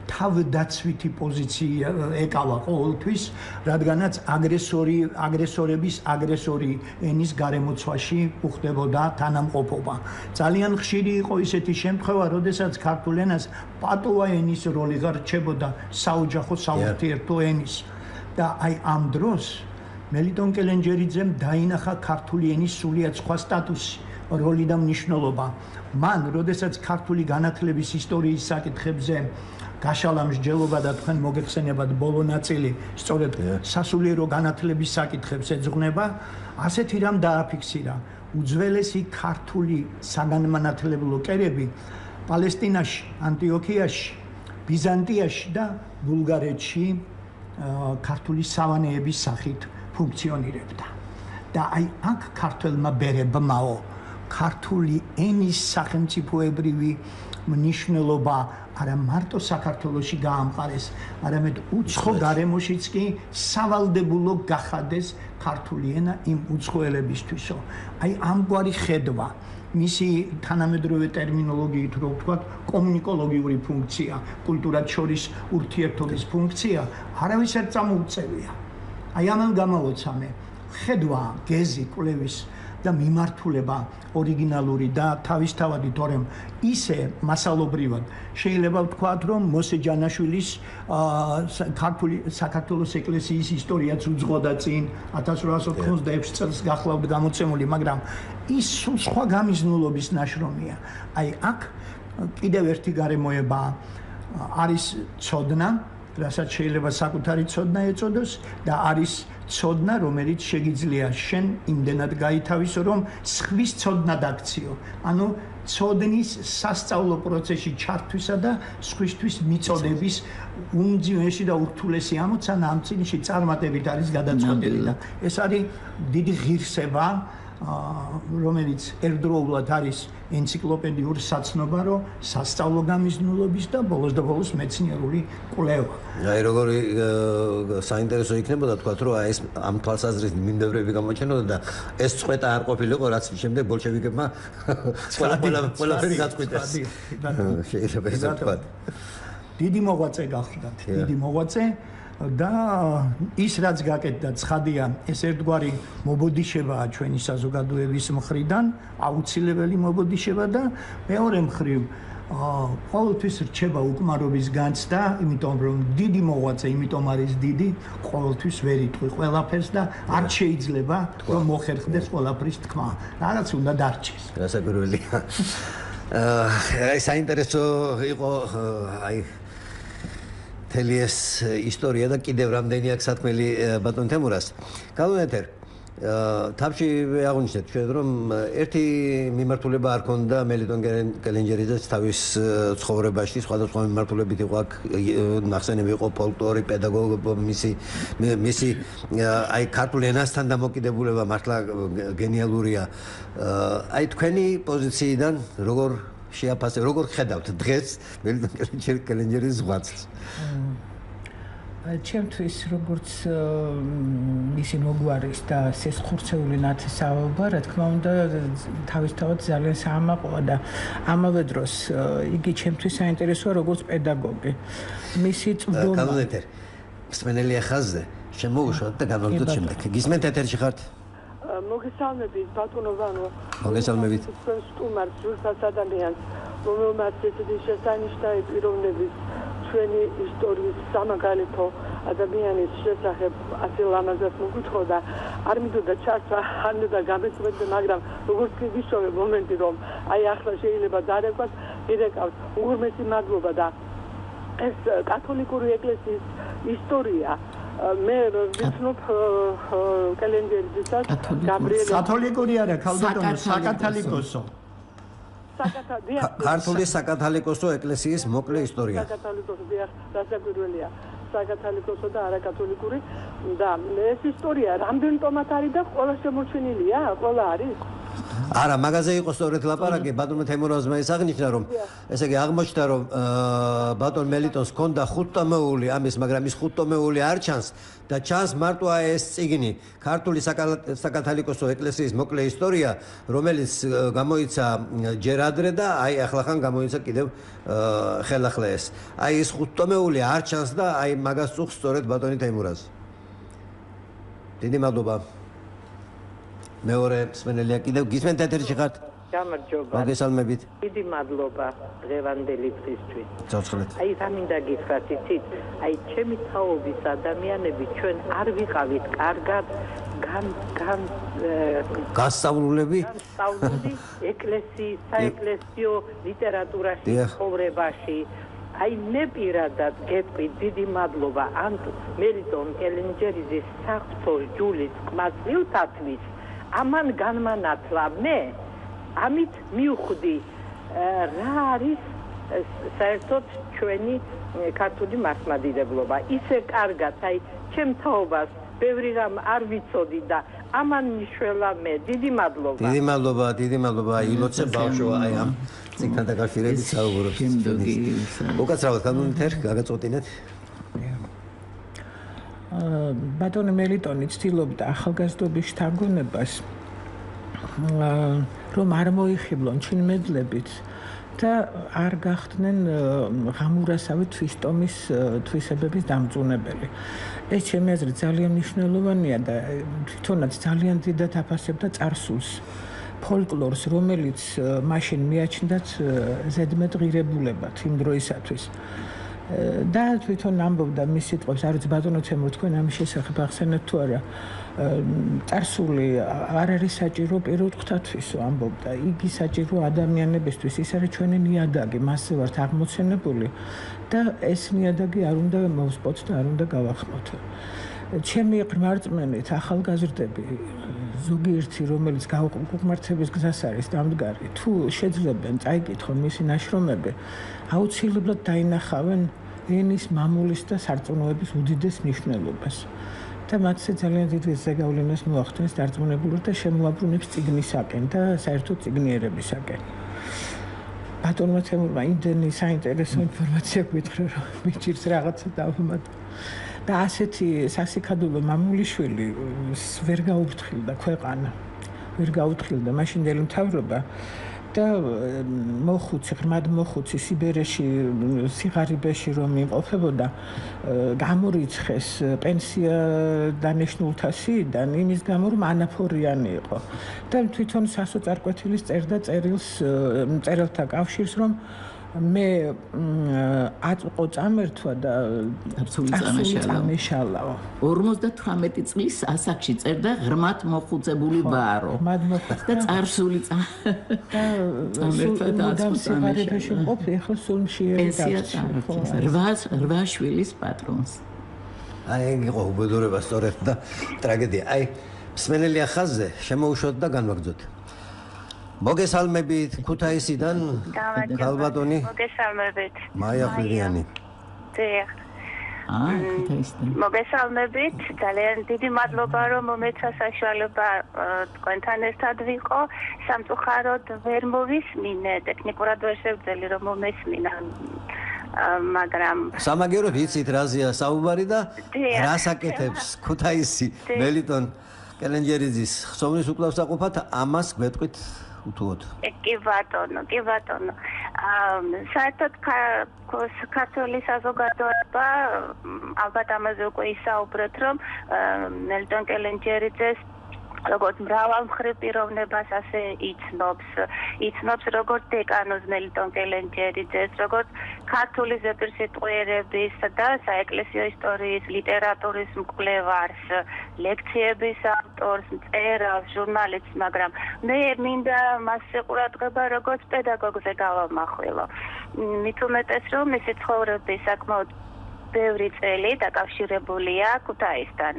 თავდაცვითი პოზიცია ეკავა ყოველთვის, რადგანაც აგრესორი, აგრესორების აგრესორი ენის გარემოცვაში უხდებოდა თანამყოფობა. ძალიან ხშირი იყო ისეთი შემთხვევა, როდესაც ქართულ ენას პატუა ენის როლი გარჩებოდა საოჯახო საურთიერთო ენის. და აი ამ დროს მელიტონ კელენჯერიძემ დაინახა ქართული ენის სულიად სხვა სტატუსი, როლი და მნიშვნელობა. მან, როდესაც ქართული განათლების ისტორიის საკითხებზე გაშალა მსჯელობა და თქვენ მოგეხსენებათ ბოლო ნაწილი, სწორედ სასულიერო განათლების საკითხებს ეძღვნება, ასეთი რამ დააფიქსირა. უძველესი ქართული საგანმანათლებლო კერები პალესტინაში, ანტიოქიაში, ბიზანტიაში და ბულგარეთში ქართული სავანეების სახით ფუნქციონირებდა. და აი აქ ქართველმა ბერებმაო ქართული ენის სახელმწიფოებრივი მნიშვნელობა არა მარტო საქართველოში გაამყარეს, არამედ უცხო გარემოშიც კი სავალდებულო გახადეს ქართული ენა იმ უცხოელებისთვისო. აი ამგვარი ხედვა, მისი თანამედროვე ტერმინოლოგიით რო ვთქვათ, კომუნიკოლოგიური ფუნქცია, კულტურად შორის ურთიერთობის ფუნქცია, არავის არ წამოუწევია. აი ამან გამოვოცამე ხედვა, გეზი, კვლევის და მიმართულება ორიგინალური და თავისთავადი, თორემ ისე მასალობრივად შეიძლება ვთქვათ, რომ მოსე ჯანაშვილის ქართული საქართველოს ეკლესიის ისტორიაც უძღოდა წინ ათას რვაასი ოთხმოცდაექვსი წელს გახლავთ გამოცემული, მაგრამ ის სულ სხვა გამიზნულობის ნაშრომია. აი აქ კიდევ ერთი გარემოება არის ცოდნა, რასაც შეიძლება საკუთარი ცოდნა ეწოდოს და არის ცოდნა, რომელიც შეგიძლია შენ იმდენად გაითავისო, რომ სხვის ცოდნა დაქციო. ანუ ცოდნის სასწავლო პროცესში ჩართვისა და სხვისთვის მიწოდების უმძიმესი და ურთულესი ამოცანა ამ წიგნში წარმატებით არის გადაწყვეტილი და ეს არის დიდი ღირსება, რომელიც ერთდროულად არის ენციკლოპედიურ საცნობარო, სასწავლო გამიზნულობის და ბოლოს და ბოლოს მეცნიერული კვლევა. აი როგორი საინტერესო იქნებოდა თქვა, რომ ეს ამ თვალსაზრისით მიმდევრები გამოჩენოდა და ეს წვეტა არ ყოფილიყო, რაც შემდეგ ბოლშევიკებმა ყველაფერი გაწყვიტეს. შეიძლება ესე ვთქვათ. დიდი მოღვაწე გახლდათ, დიდი მოღვაწე და ის რაც გაკეთდა ცხადია, ეს ერთგვარი მობოდიშებაა ჩვენი საზოგადოების მხრიდან, აუცილებელი მობოდიშება და მეორე მხრივ ყოველთვის რჩება უკმარობის განცდა, იმიტომ რომ დიდი მოღვაწე, იმიტომ არის დიდი, ყოველთვის ვერ იტყვი ყველაფერს და არ შეიძლება რომ მოხერხდეს ყველაფრის თქმა. რაღაც უნდა დარჩეს. გასაკვირველია. აი საინტერესო იყო აი თელი ეს ისტორია და კიდევ რამდენი აქვს სათქმელი ბატონ თემურას. Καλό ეთერ. თავში აღნიშნეთ ჩვენ რომ ერთი მიმართულება არ ქონდა მელიტონ კელენჯერიძეს თავის ცხოვრებაში, სხვადასხვა მიმართულებით იყო აქ ნახსენები იყო ფოლკლორი, პედაგოგი, მისი მისი აი ქართულ ენასთან დამოკიდებულება მართლა გენიალურია. აი თქვენი პოზიციიდან როგორ შეაფასებთ, როგორ ხედავთ დღეს მელიტონ კელენჯერის ღვაწლს? ჩემთვის როგორც მისი მოგვარის და სესხურცეული ნათესაობა, რა თქმა უნდა, თავისთავად ძალიან საამაყოა და ამავე დროს იგი ჩემთვის საინტერესოა როგორც პედაგოგი. მისი წვდომა კანონეთერ მსმენელი ახაზზე შემოუშვათ და განვაგრძოთ შემდეგ. გისმენთ ეთერში ხართ? მოგესალმებით ბატონო ვანო. მოგესალმებით. სტუმარს ზუსტად ადამიანს, რომელმაც ესეთი შესანიშნავი პიროვნების ჩვენი ისტორიის სამაგალითო ადამიანის შესახებ ასე ლამაზად მოგვითხოვდა, არ მინდოდა ჩართვა, არ მინდოდა გამეცემდა, მაგრამ როგორც კი ვიშოვე მომენტი, რომ აი ახლა შეიძლება დარეკვა, ირეკავს უღრმესი მადლობა და ეს კათოლიკური ეკლესიის ისტორია მე ვიცნობ კელენჯერიძესაც გაბრიელ კათოლიკური არა, ქალბატონო, საკათალიკოსო. ქართული საკათალიკოსო ეკლესიის მოკლე ისტორია. საკათალიკოსო დიახ, დასაკვირველია. საკათალიკოსო და არაკათოლიკური და ეს ისტორია რამდენ ტომად არის და ყველა შემორჩენილია, ყველა არის? არა, მაგაზე იყო სწორედ ლაპარაკი, ბატონო თემურაზმა ის აღნიშნა, რომ ესე იგი აღმოჩნდა, რომ ბატონ მელიტონს ჰქონდა ხუთტომეული ამის, მაგრამ ის ხუთტომეული არ ჩანს და ჩანს მარტო ეს წიგნი, ქართული საკათალიკოსო ეკლესიის მოკლე ისტორია, რომელიც გამოიცა ჯერ ადრე და აი ახლახან გამოიცა კიდევ ხელახლა ეს. აი ეს ხუთტომეული არ ჩანს და აი მაგას წუხს სწორედ ბატონი თემურაზი. დიდი მადლობა. მეორე მსმენელია კიდევ გისმენთ ეთერში ხართ? გამარჯობა. მოგესალმებით. დიდი მადლობა დღევანდელი დღისთვის. ცოცხლეთ. აი რა მინდა გითხრათ, იცით? აი ჩემი თაობის ადამიანები ჩვენ არ ვიყავით კარგად გან გან გასწავლულები? გასწავლული ეკლესიის, საეკლესიო ლიტერატურაში, ცხოვრებაში. აი მე პირადად გეტყვი დიდი მადლობა ამ მელიტონ კელენჯერიძის საღვთო ჯულის ყმაწვილთათვის ამან განმანათლა მე ამით მივხვდი რა არის საერთოდ ჩვენი ქართული მართლმადიდებლობა ისე კარგად აი ჩემ თაობას ბევრი რამ არ ვიცოდი და ამან მიშველა მე დიდი მადლობა დიდი მადლობა დიდი მადლობა ილოცე ბავშვო აი ამ წიგნთან დაკავშირებით საუბრობთ უკაცრავად კანონითერ გაგაწყვეტინეთ ბატონი მელიტონი ცდილობდა ახალგაზრდობის შთაგონებას რომ არ მოიხიბლონ ჩინმედლებით და არ გახდნენ ღამურასავი თვისტომის თვისებების დამწუნებელი. ეს ჩემი აზრით ძალიან მნიშვნელოვანია და თვითონაც ძალიან დიდად აფასებდა წარსულს, ფოლკლორს, რომელიც მაშინ მიაჩნდათ ზედმეტ ღირებულებად იმ დროისათვის. და თვითონ ამბობდა მის სიტყვებს, არ ვიცი ბატონო თემურ თქვენ ამის შესახებ ახსენეთ თუ არა. წარსული არ არის საჭირო პირუტყვთათვისო ამბობდა. იგი საჭირო ადამიანებისთვის, ის არის ჩვენი ნიადაგი, მასზე ვართ აღმოცენებული და ეს ნიადაგი არ უნდა მოვსპოთ და არ უნდა გავახმოთ. ჩემი ღმერთმენით ახალგაზრდები ზოგიერთი რომელიც გაუყმართების გზას არის დამდგარი, თუ შეძლებენ წაიკითხონ მისი ნაშრომები, აუცილებლად დაინახავენ ენის მამულის და სარწმუნოების უდიდეს მნიშვნელობას. და მათზე ძალიან დიდი ზეგავლენას მოახდენს დარწმუნებულს და შემოაბრუნებს წიგნისაკენ და საერთოდ წიგნიერებისაკენ. ბატონმა თემურმა იმდენი საინტერესო ინფორმაცია გითხრა, რომ მიჭირს რაღაცა დავამატო. და ასეთი სასიკადულო მამულიშვილი ვერ გაუფრთხილდა ქვეყანა, ვერ გაუფრთხილდა მაშინდელი მთავრობა და მოხუცი, ღრმად მოხუცი სიბერეში, სიღარიბეში რომ იმყოფებოდა, გამორიცხეს პენსია დანიშნულთა სიიდან იმის გამო, რომ ანაფორიანი იყო. და თვითონ სასოწარკვეთილის წერდა წერილს, წერილთა კავშირს, რომ მე აწმყო წამერთვა და წარსული წამეშალაო. ორმოცდათვრამეტი წლის ასაკში წერდა ღრმად მოხუცებული ბარო. ღრმად მოხუცებული და წარსული წამერთვა და აწმყო წამეშალაო. ყოფ ეხლა სულ მშიერი დარჩა. რვა შვილის პატრონს. აი იყო უბედურება სწორედ და ტრაგედია. აი სმენელია ხაზზე შემოუშვოთ და განვაგრძოთ. მოგესალმებით ქუთაისიდან ქალბატონი. მოგესალმებით. მაია ხვირიანი. დიახ. აა ქუთაისიდან. მოგესალმებით. ძალიან დიდი მადლობა რომ მომეცა საშუალება თქვენთან ერთად ვიყო. სამწუხაროდ ვერ მოვისმინე, ტექნიკურად ვერ შევძელი რომ მომესმინა. მაგრამ სამაგეროდ იცით რაზეა საუბარი და რას აკეთებს ქუთაისი მელიტონ კელენჯერიძის ხსოვნის უკვლავსაყოფად ამას გვეტყვით უთუოდ. კი ბატონო, კი ბატონო. საერთოდ ქართული საზოგადოება ალბათ ამაზე უკვე ისაუბრეთ, რომ მელიტონ კელენჯერიძეს როგორც მრავალმხრივ პიროვნებას ასე იცნობს, იცნობს როგორც დეკანოზ მელიტონ კელენჯერიძეს, როგორც ქართული ზეპირსიტყვიერების და საეკლესიო ისტორიის, ლიტერატურის მკვლევარს, ლექციების ავტორს, მწერალს, ჟურნალისტს, მაგრამ მე მინდა მასზე ყურადღება როგორც პედაგოგზე გავამახვილო. მით უმეტეს, რომ მისი ცხოვრების საკმაოდ ბევრი წელი დაკავშირებულია ქუთაისთან.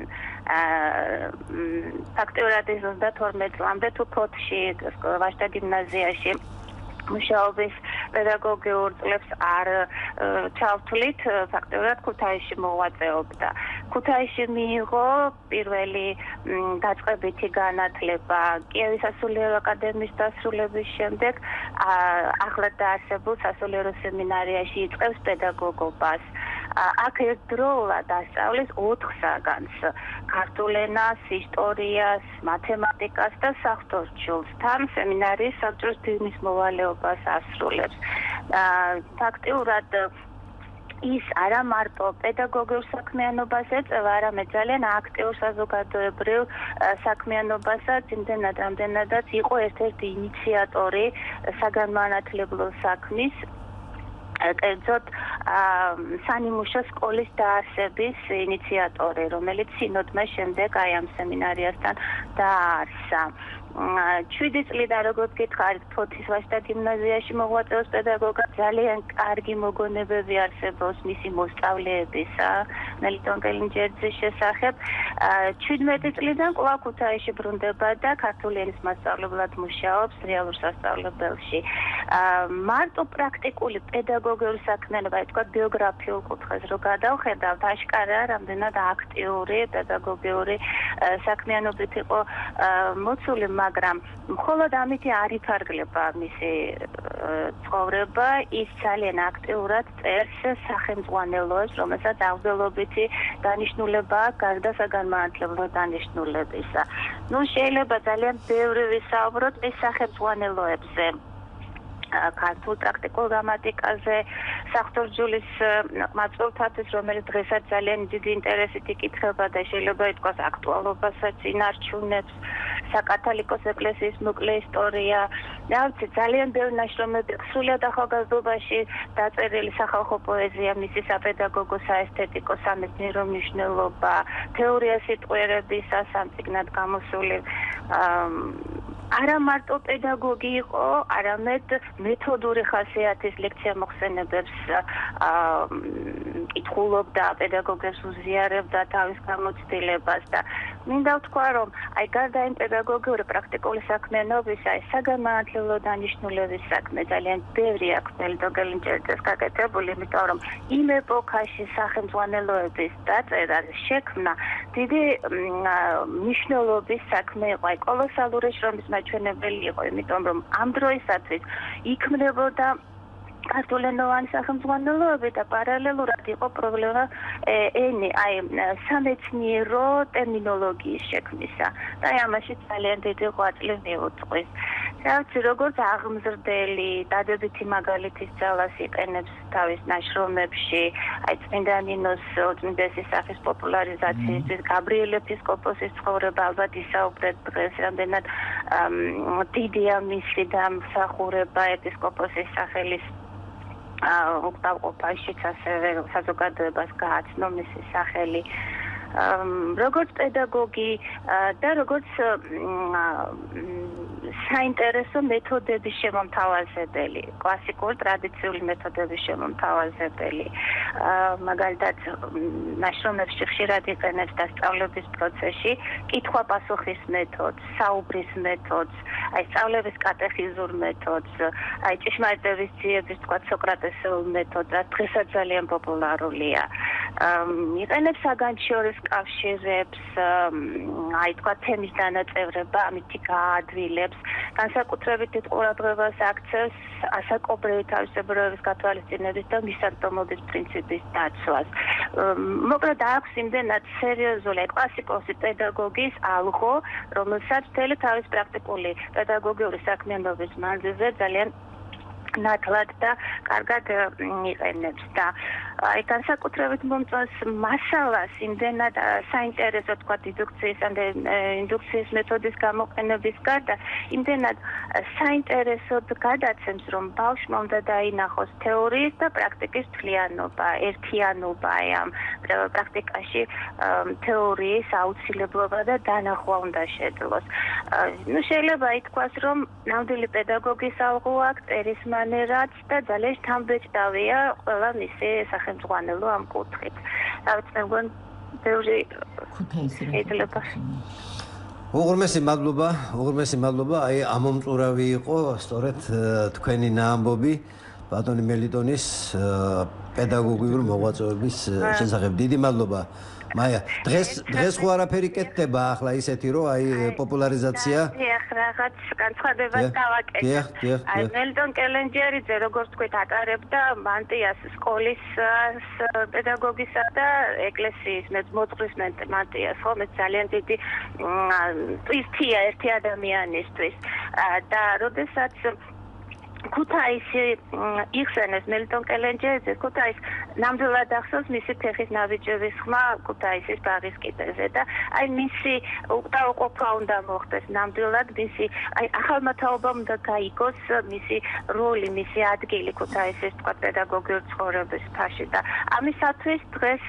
ფაქტიურად ის ოცდათორმეტ წლამდე თუ ფოთში, ვაჟთა გიმნაზიაში მუშაობის პედაგოგიურ წლებს არ ჩავთვლით, ფაქტიურად ქუთაისში მოღვაწეობდა. ქუთაისში მიიღო პირველი დაწყებითი განათლება კიევის სასულიერო აკადემიის დასრულების შემდეგ ახლად დაარსებულ სასულიერო სემინარიაში იწყებს პედაგოგობას. აქ ერთდროულად ასწავლის ოთხ საგანს: ქართულ ენას, ისტორიას, მათემატიკას და საღვთო თან სემინარიის საბჭოს დირნის მოვალეობას ასრულებს. ფაქტიურად ის არა მარტო პედაგოგიურ საქმიანობას ეწევა, არამედ ძალიან აქტიურ საზოგადოებრივ საქმიანობასაც, იმდენად რამდენადაც იყო ერთ-ერთი ინიციატორი საგანმანათლებლო საქმის, კერძოდ სანიმუშო სკოლის დაარსების ინიციატორი, რომელიც სინოდმა შემდეგ აი ამ სემინარიასთან დაარსა. შვიდი წლიდან როგორც გითხარით, ფოთის ვაჟთა გიმნაზიაში მოღვაწეობს პედაგოგად, ძალიან კარგი მოგონებები არსებობს მისი მოსწავლეებისა მელიტონ კელენჯერიძის შესახებ. ჩვიდმეტი წლიდან კვლავ ქუთაისში ბრუნდება და ქართული ენის მასწავლებლად მუშაობს რეალურ სასწავლებელში. მარტო პრაქტიკული პედაგოგიური საქმიანობა, თქვა ბიოგრაფიულ კუთხეს რო გადავხედავთ, აშკარაა რამდენად აქტიური პედაგოგიური საქმიანობით იყო მოცული, მაგრამ მხოლოდ ამით არ იფარგლება მისი ცხოვრება, ის ძალიან აქტიურად წერს სახელმძღვანელოებს, რომელსაც აღბელობითი დანიშნულება აქვს გარდა საგანმანათლებლო დანიშნულებისა. ნუ შეიძლება ძალიან ბევრი ვისაუბროთ ეს სახელმძღვანელოებზე. ქართულ პრაქტიკულ გრამატიკაზე, საღვთო-ბრძოლის მაწვევთათვის, რომელიც დღესაც ძალიან დიდი ინტერესით იკითხება და შეიძლება ითქვას აქტუალობასაც ინარჩუნებს, საკათოლიკოს ეკლესიის მოკლე ისტორია, რა ვიცი, ძალიან ბევრი ნაშრომები სრულიად ახალგაზრდობაში დაწერილი სახალხო პოეზია, მისი საპედაგოგო, საესთეტიკო, სამეცნიერო მნიშვნელობა, თეორია სიტყვიერებისა სამწიგნად გამოსული. არა მარტო პედაგოგი იყო, არამედ მეთოდური ხასიათის ლექცია მოხსენებებს კითხულობდა, პედაგოგებს უზიარებდა თავის გამოცდილებას და მინდა ვთქვა, რომ აი გარდა იმ პედაგოგიური პრაქტიკული საქმიანობისა, ეს საგანმანათლებლო დანიშნულების საქმე ძალიან ბევრი აქვს მელიტონ კელენჯერიძეს გაკეთებული, იმიტომ რომ იმ ეპოქაში სახელმძღვანელოების დაწერა, შექმნა დიდი მნიშვნელობის საქმე იყო, აი კოლოსალური შრომის მაჩვენებელი იყო, იმიტომ რომ ამ დროისათვის იქმნებოდა ქართულენოვანი სახელმძღვანელოები და პარალელურად იყო პრობლემა ენი, აი სამეცნიერო ტერმინოლოგიის შექმნისა და ამაში ძალიან დიდი ღვაწლი მიუძღვის. რაც როგორც აღმზრდელი, დადებითი მაგალითის ძალას იყენებს თავის ნაშრომებში, აი წმინდა ნინოს ოწმინდესის სახის პოპულარიზაციისთვის, გაბრიელ ეპისკოპოსის ცხოვრება, ალბათ ისაუბრეთ დღეს, რამდენად დიდია მისი დამსახურება ეპისკოპოსის სახელის უკდავყოფაშიც ასევე საზოგადოებას გააცნო მისი სახელი. როგორც პედაგოგი და როგორც საინტერესო მეთოდების შემომთავაზებელი, კლასიკური ტრადიციული მეთოდების შემომთავაზებელი. მაგალითად, ნაშრომებში ხშირად იყენებს დასწავლების პროცესში კითხვა-პასუხის მეთოდს, საუბრის მეთოდს, აი სწავლების კატეხიზურ მეთოდს, აი ჭიშმარიტების ძიების, თქვა სოკრატესეულ მეთოდს, რაც დღესაც ძალიან პოპულარულია. იყენებს საგანჩიორეს კავშირებს, აი თქვა თემის დანაწევრება, ამითი გაადვილებს, განსაკუთრებით დიდ ყურადღებას აქცევს ასაკობრივი თავისებურების გათვალისწინების და მისაწვდომობის პრინციპის დაცვას. მოკლედ აქვს იმდენად სერიოზული კლასიკოსი პედაგოგის ალღო, რომელსაც მთელი თავის პრაქტიკული პედაგოგიური საქმიანობის მანძილზე ძალიან ნათლად და კარგად იყენებს და აი განსაკუთრებით მომწონს მასალას იმდენად საინტერესო თქვა დიდუქციის ან ინდუქციის მეთოდის გამოყენების გარდა იმდენად საინტერესოდ გადაცემს რომ ბავშვმა უნდა დაინახოს თეორიის და პრაქტიკის მთლიანობა, ერთიანობა ამ პრაქტიკაში თეორიის აუცილებლობა და დანახვა უნდა შეძლოს. ნუ შეიძლება ითქვას რომ ნამდვილი პედაგოგის ალღო აქვს წერის მანერაც და ძალიან შთამბეჭდავია ყველა მისი სახელმძღვანელო ამ კუთხით. რაც მე მგონი ბევრი შეიძლება უღრმესი მადლობა, უღრმესი მადლობა, აი ამომწურავი იყო სწორედ თქვენი ნაამბობი ბატონი მელიტონის პედაგოგიური მოღვაწეობის შესახებ. დიდი მადლობა. მაია, დღეს დღეს ხო არაფერი კეთდება ახლა ისეთი რომ აი პოპულარიზაცია. დიახ, რაღაც განცხადებას დავაკეთებ. აი მელიტონ კელენჯერიძე როგორც თქვით ატარებდა მანტიას სკოლის პედაგოგისა და ეკლესიის მოძღვრის მანტიას, ხო, მე ძალიან დიდი ტვისტია ერთი ადამიანისთვის. და როდესაც ქუთაისი იხსენეს მელიტონ კელენჯერიძეს, ქუთაის ნამდვილად ახსოვს მისი ფეხის ნაბიჯების ხმა ქუთაისის ბაღის კიდეზე და აი მისი უკდაუყოფა უნდა მოხდეს ნამდვილად მისი აი ახალმა თაობამ უნდა გაიგოს მისი როლი, მისი ადგილი ქუთაისის თქვა პედაგოგიურ ცხოვრების ფაში და ამისათვის დღეს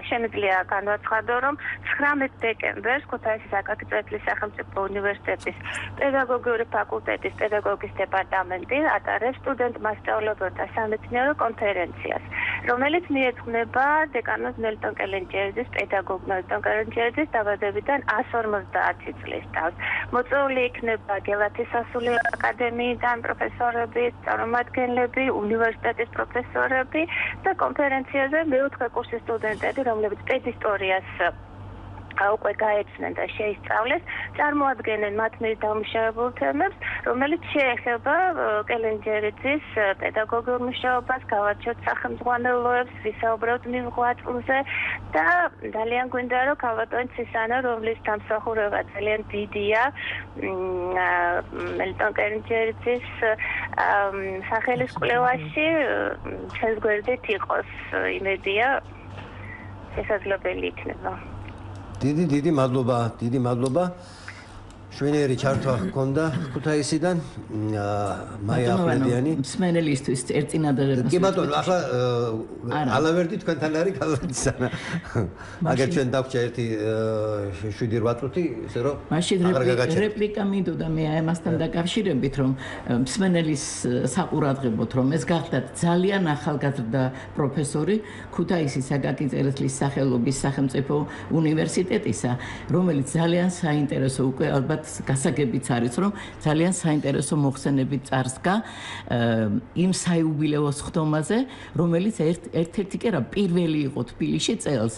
შემიძლია განვაცხადო რომ ცხრამეტ დეკემბერს ქუთაისის აკაკი წერეთლის სახელმწიფო უნივერსიტეტის პედაგოგიური ფაკულტეტის პედაგოგის დეპარტამენტი ატარებს სტუდენტ მასწავლებელთა სამეცნიერო კონფერენციას, რომელიც მიეძღვნება დეკანოს მელიტონ კელენჯერიძის პედაგოგ მელიტონ კელენჯერიძის დაბადებიდან ას ორმოცდაათი წლის თავს. მოწვეული იქნება გელათის სასულიერო აკადემიიდან პროფესორები, წარმომადგენლები, უნივერსიტეტის პროფესორები და კონფერენციაზე მეოთხე კურსის სტუდენტები, რომლებიც პედისტორიას უკვე გაეცნენ და შეისწავლეს, წარმოადგენენ მათ მიერ დამუშავებულ თემებს, რომელიც შეეხება კელენჯერიძის პედაგოგიურ მუშაობას, გავარჩევთ სახელმძღვანელოებს, ვისაუბრებთ მიღწევაზე და ძალიან გვინდა რომ ქალბატონი ცისანა, რომლის დამსახურება ძალიან დიდია, მელიტონ კელენჯერიძის სახელის კვლევაში ჩვენს გვერდით იყოს, იმედია შესაძლებელი იქნება. დიდი დიდი მადლობა, დიდი მადლობა. შვენიერი ჩართვა ჰქონდა ქუთაისიდან მაია ახვლედიანი. მსმენელისთვის ერთინადად კი ბატონო, ახლა ალავერდი თქვენთან არის ქალბატონისანა. აგერ ჩვენ დაგვჭა ერთი შვიდი რვა წუთი, ისე რომ აღარ გაგაჩერდეთ. რეპლიკა მინდოდა მე ამასთან დაკავშირებით, რომ მსმენელის საყურადღებოთ, რომ ეს გახდათ ძალიან ახალგაზრდა პროფესორი ქუთაისის აკაკი წერეთლის სახელობის სახელმწიფო უნივერსიტეტისა, რომელიც ძალიან საინტერესო უკვე ალბათ გასაგებიც არის, რომ ძალიან საინტერესო მოხსენებით წარსდგა იმ საიუბილეოს ხდომაზე, რომელიც ერთ-ერთი კი არა პირველი იყო თბილისში წელს,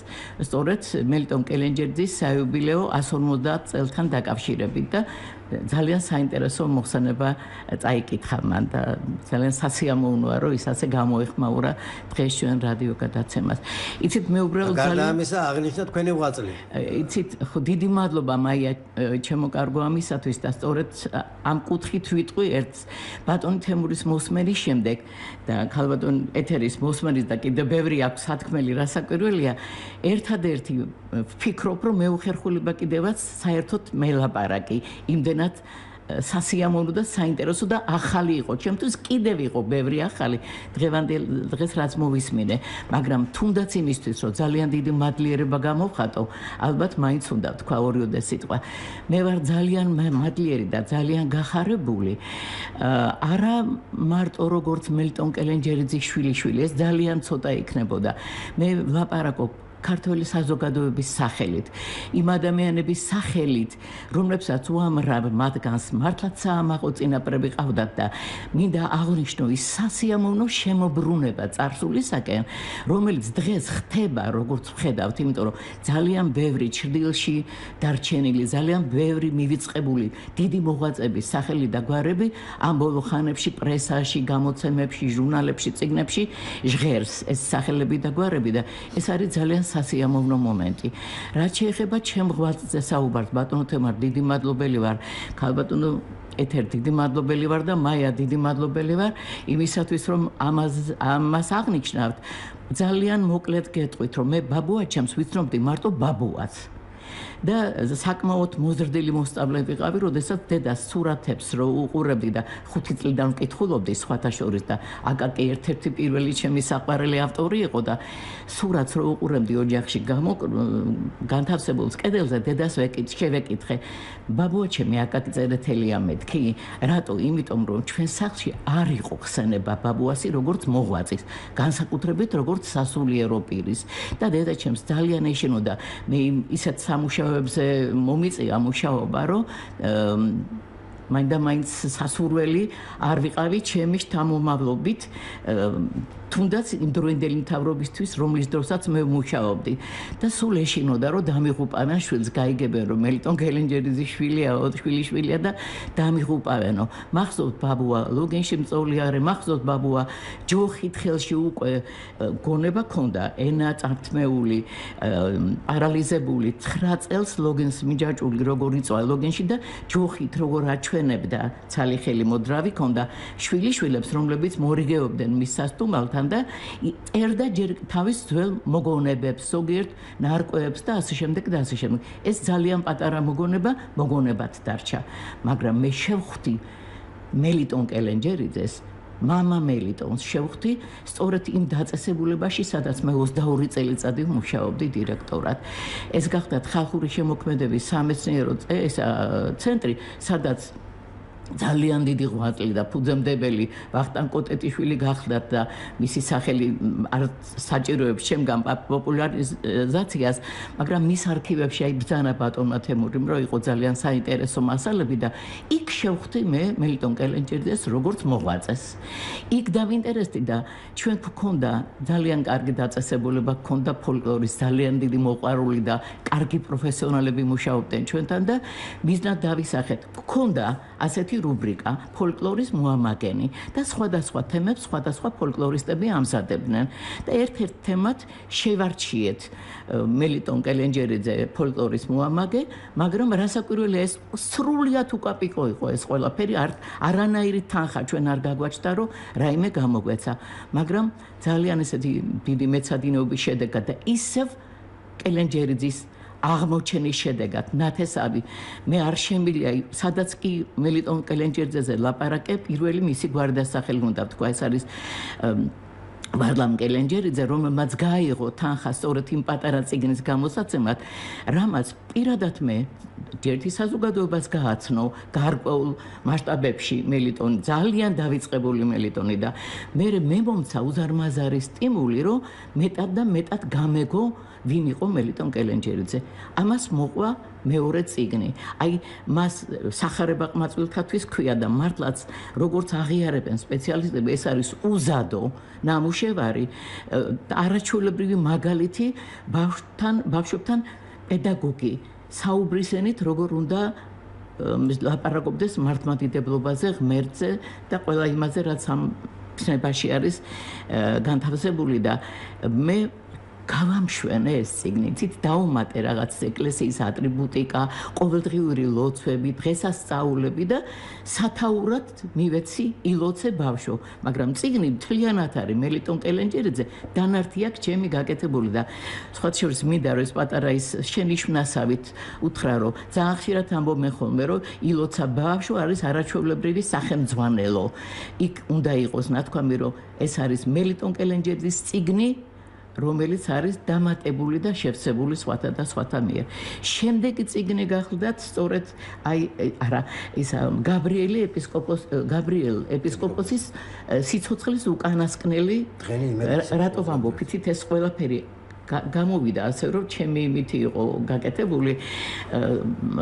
სწორედ მელიტონ კელენჯერიძის საიუბილეო ას ორმოცდაათ წელთან დაკავშირებით და ძალიან საინტერესო მოხსენება წაიკითხა მან და ძალიან სასიამოვნოა, რომ ის ასე გამოეხმაურა დღეს ჩვენ რადიო გადაცემას. იცით, მე უბრალოდ ძალიან გარდა ამისა აღნიშნა თქვენი ღვაწლი. იცით, ხო დიდი მადლობა მაია ჩემო კარგო ამისათვის და სწორედ ამ კუთხით ვიტყვი ერთს ბატონი თემურის მოსმენის შემდეგ და ქალბატონ ეთერის მოსმენის და კიდევ ბევრი აქვს სათქმელი რასაკვირველია, ერთადერთი ვფიქრობ, რომ მე უხერხულება კიდევაც საერთოდ მელაპარაკი იმდენად სასიამოვნო და საინტერესო და ახალი იყო. ჩემთვის კიდევ იყო ბევრი ახალი დღევანდელ დღეს რაც მოვისმინე, მაგრამ თუნდაც იმისთვის, რომ ძალიან დიდი მადლიერება გამოვხატო, ალბათ მაინც უნდა ვთქვა ორიოდე სიტყვა. მე ვარ ძალიან მადლიერი და ძალიან გახარებული. არა მარტო როგორც მელიტონ კელენჯერიძის შვილიშვილი, ეს ძალიან ცოტა იქნებოდა. მე ვლაპარაკობ ქართული საზოგადოების სახელით, იმ ადამიანების სახელით, რომლებსაც უამრავ მათგანს მართლაც საამაყო წინაპრები ყავდათ და მინდა აღვნიშნო ის სასიამოვნო შემოbrunება წარსულისაკენ, რომელიც დღეს ხდება, როგორც ვხედავთ, იმიტომ რომ ძალიან ბევრი ჩრდილში დარჩენილი, ძალიან ბევრი მივიწყებული დიდი მოღვაწეების სახელი და გვარები ამ ბოლო ხანებში პრესაში, გამოცემებში, ჟურნალებში, წიგნებში ჟღერს ეს სახელები და გვარები და ეს არის ძალიან სასიამოვნო მომენტი. რაც შეეხება ჩემ ღვაწლზე საუბარს, ბატონო თემარ, დიდი მადლობელი ვარ. ქალბატონო ეთერ, დიდი მადლობელი ვარ და მაია, დიდი მადლობელი ვარ იმისათვის, რომ ამას ამას აღნიშნავთ. ძალიან მოკლედ გეტყვით, რომ მე ბაბუა ჩემს ვიცნობდი მარტო ბაბუას. და საკმაოდ მოზრდილი მოსწავლე ვიყავი, როდესაც დედას სურათებს რო უყურებდი და ხუთი წლიდან ვკითხულობდი სხვათა შორის და აკაკი ერთ-ერთი პირველი ჩემი საყვარელი ავტორი იყო და სურათს რო უყურებდი ოჯახში გამო განთავსებულს კედელზე დედას ვეკითხე, შევეკითხე, ბაბუა ჩემი აკაკი წერეთელია მეთქი, რატო? იმიტომ რომ ჩვენ სახლში არ იყო ხსენება ბაბუასი როგორც მოღვაწის, განსაკუთრებით როგორც სასულიერო პირის და დედა ჩემს ძალიან ეშინოდა მე ისეთ სამუშაოებზე მომიწია მუშაობა, რომ მაინდა-მაინც სასურველი არ ვიყავი ჩემი შთამომავლობით, თუნდაც იმ დროინდელი მთავრობისთვის, რომლის დროსაც მე ვმუშაობდი და სულ ეშინოდა, რომ დამიღუპავენ შვილს, გაიგებენ, რომ მელიტონ კელენჯერიძის შვილია, შვილიშვილია და დამიღუპავენო. მახსოვთ ბაბუა ლოგენში მწოლიარე, მახსოვთ ბაბუა ჯოხით ხელში უკვე გონება ქონდა, ენა წართმეული, პარალიზებული, ცხრა წელს ლოგენს მიჯაჭული როგორ იწვა ლოგენში და ჯოხით როგორ აჩვენებდა, ცალი ხელი მოდრავი ქონდა შვილიშვილებს, რომლებიც მორიგეობდნენ მის სასტუმრალთან და წერდა ჯერ თავის ძველ მოგონებებს, ზოგიერთ ნარკვევებს და ასე შემდეგ და ასე შემდეგ. ეს ძალიან პატარა მოგონება მოგონებად დარჩა, მაგრამ მე შევხვდი მელიტონ კელენჯერიძეს, მამა მელიტონს შევხვდი სწორედ იმ დაწესებულებაში, სადაც მე ოცდაორი წელიწადი ვმუშაობდი დირექტორად. ეს გახდათ ხალხური შემოქმედების სამეცნიერო ცენტრი, სადაც ძალიან დიდი ღვაწლი და ფუძემდებელი ვახტანგ კოტეტიშვილი გახლდათ და მისი სახელი არ საჭიროებს შემგან პოპულარიზაციას, მაგრამ მის არქივებში აი ბრძანა ბატონმა თემურიმ, რომ იყო ძალიან საინტერესო მასალები და იქ შევხვდი მე მელიტონ კელენჯერიძეს როგორც მოღვაწეს. იქ დავინტერესდი და ჩვენ გვქონდა ძალიან კარგი დაწესებულება, გვქონდა ფოლკლორის ძალიან დიდი მოყვარული და კარგი პროფესიონალები მუშაობდნენ ჩვენთან და მიზნად დავისახეთ. გვქონდა ასეთი რუბრიკა ფოლკლორის მოამაგენი და სხვადასხვა თემებს სხვადასხვა ფოლკლორისტები ამზადებდნენ და ერთ-ერთ თემად შევარჩიეთ მელიტონ კელენჯერიძე ფოლკლორის მოამაგე, მაგრამ რასაკვირველია ეს სრულიად უკაპიკო იყო ეს ყველაფერი, არანაირი თანხა ჩვენ არ გაგვაჩნდა, რომ რაიმე გამოგვეცა, მაგრამ ძალიან ესეთი დიდი მეცადინეობის შედეგად და ისევ კელენჯერიძის აღმოჩენის შედეგად ნათესავი მე არ შემილია, სადაც კი მელიტონ კელენჯერიძეზე ლაპარაკე, პირველი მისი გვარდასახელი უნდა ვთქვა, ეს არის ვარლამ კელენჯერიძე, რომელმაც გაიღო თანხა სწორედ იმ პატარა წიგნის გამოსაცემად, რამაც პირადად მე ერთი საზოგადოებას გააცნო გარკვეულ მასშტაბებში მელიტონი, ძალიან დავიწყებული მელიტონი და მე მე მომცა უზარმაზარი სტიმული, რომ მეტად და მეტად გამეგო ვინ იყო მელიტონ კელენჯერიძე. ამას მოყვა მეორე წიგნი. აი მას სახარება ყმაწვილთათვის ქვია და მართლაც როგორც აღიარებენ სპეციალისტები, ეს არის უზადო ნამუშევარი, არაჩვეულებრივი მაგალითი ბავშვთან, ბავშვებთან პედაგოგი საუბრისენით როგორ უნდა ლაპარაკობდეს მართლმადიდებლობაზე, ღმერთზე და ყველა იმაზე, რაც ამ ცნებაში არის განთავსებული და მე გავამშვენე ეს წიგნი, ცით დაუმატე რაღაც ეკლესიის ატრიბუტიკა, ყოველდღიური ლოცვები, დღესასწაულები და სათაურად მივეცი ილოცე ბავშვო, მაგრამ წიგნი მთლიანად არის მელიტონ კელენჯერიძე, დანართი აქვს ჩემი გაკეთებული და სხვა შორის მინდა რომ ეს პატარა ის შენი შვნასავით უთხრა რომ ძალიან ხშირად ამბობენ ხოლმე რომ ილოცა ბავშვო არის არაჩვეულებრივი სახელმძღვანელო. იქ უნდა იყოს ნათქვამი რომ ეს არის მელიტონ კელენჯერიძის წიგნი, რომელიც არის დამატებული და შევსებული სხვათა და სხვათა მიერ. შემდეგი წიგნი გახლდათ სწორედ აი არა ის გაბრიელი ეპისკოპოს გაბრიელ ეპისკოპოსის სიცოცხლის უკანასკნელი რატო ვამბობ იცით ეს ყველაფერი გამოვიდა ასე რომ ჩემი იმითი იყო გაკეთებული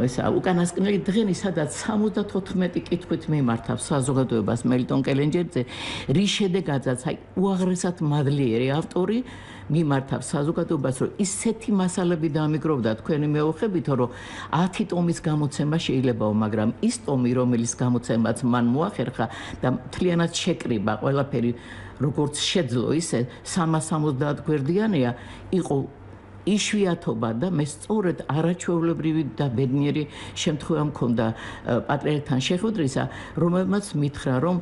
ესა უკანასკნელი დღენი სადაც სამოცდათოთხმეტი კითხვით მიმართავს საზოგადოებას მელიტონ კელენჯერიძე რის შედეგადაც აი უაღრესად მადლიერი ავტორი მიმართავს საზოგადოებას რომ ისეთი მასალები დამიგროვდა თქვენი მეოხებით რომ ათი ტომის გამოცემა შეიძლებაო მაგრამ ის ტომი რომელიც გამოცემაც მან მოახერხა და მთლიანად შეკრიბა ყველაფერი როგორც შეძლო ისე სამას სამოცდაათ გვერდიანია იყო იშვიათობა და მე სწორედ არაჩვეულებრივი და ბედნიერი შემთხვევა მქონდა პატრიარქთან შეხვედრისა რომელმაც მითხრა რომ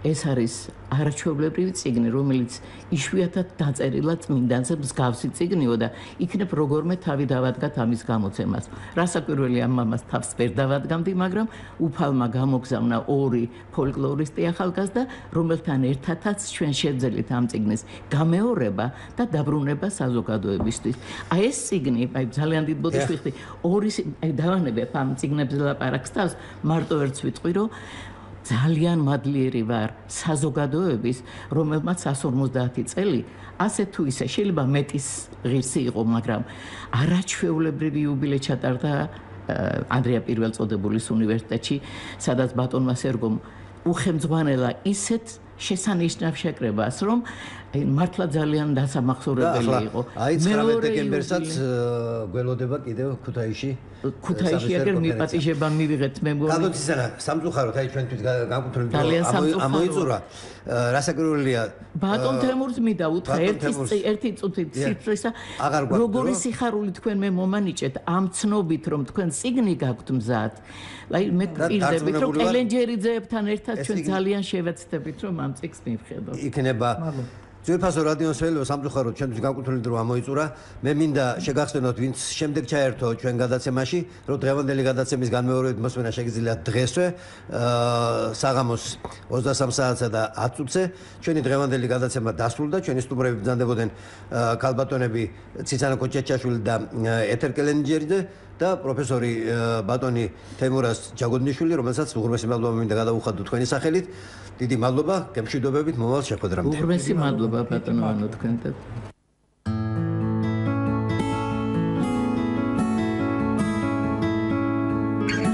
ეს არის არაჩვეულებრივი წიგნი, რომელიც იშვიათად დაწერილა წმინდანზე მსგავსი წიგნიო და იქნებ როგორმე თავი დავადგათ ამის გამოცემას. რასაკვირველი ამ მამას თავს ვერ დავადგამდი, მაგრამ უფალმა გამოგზავნა ორი ფოლკლორისტი ახალგაზრდა, რომელთან ერთადაც ჩვენ შევძელით ამ წიგნის გამეორება და დაბრუნება საზოგადოებისთვის. აი ეს წიგნი, აი ძალიან დიდ ბოდიშს ვიხდი, ორი აი დავანებებ ამ წიგნებზე ლაპარაკს თავს, მარტო ერთს ვიტყვი, რომ ძალიან მადლიერი ვარ საზოგადოების, რომელმაც εκατს ორმოცდაათი წელი, ასე თუ ისე შეიძლება მეტის ღირსი იყო, მაგრამ არაჩვეულებრივი იუბილე ჩატარდა ანდრია პირველწოდებულის უნივერსიტეტში, სადაც ბატონმა სერგომ უხელმძღვანელა ისეთ შესანიშნავ შეკრებას, რომ მართლა ძალიან დასამახსოვრებელი იყო. აი ცხრამეტ დეკემბერსაც გველოდება კიდევ ქუთაისში. ქუთაისში აგერ მიპატიჟება მივიღეთ მე მგონი. გადოცისანა სამწუხაროდ აი ჩვენთვის განკუთვნილ ამოიწურა. რასაკვირველია ბატონ თემურს მინდა უთხრა ერთი ერთი წუთით სიტრისა როგორი სიხარული თქვენ მე მომანიჭეთ ამ ცნობით რომ თქვენ წიგნი გაქვთ მზად. აი მე პირდებით რომ კელენჯერიძეებთან ერთად ჩვენ ძალიან შევეცდებით რომ ამ წიგნს მივხედოთ. იქნება ძვირფასო რადიოს ველო სამწუხაროდ ჩვენთვის განკუთვნილი დრო ამოიწურა. მე მინდა შეგახსენოთ ვინც შემდეგ ჩაერთო ჩვენ გადაცემაში, რომ დღევანდელი გადაცემის განმეორებით მოსმენა შეგიძლიათ დღესვე საღამოს ოცდასამ საათსა და ათ წუთზე. ჩვენი დღევანდელი გადაცემა დასრულდა. ჩვენი სტუმრები ბრძანდებოდნენ ქალბატონები ციცანა კოჭეჩაშვილი და ეთერ კელენჯერიძე და პროფესორი ბატონი თემურაზ ჯაგოდნიშვილი, რომელსაც უღრმესი მადლობა მინდა გადაუხადო თქვენი სახელით. დიდი მადლობა, გემშვიდობებით მომავალ შეხვედრამდე. უღრმესი მადლობა ბატონო ანო თქვენთან.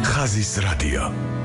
ხაზის რადიო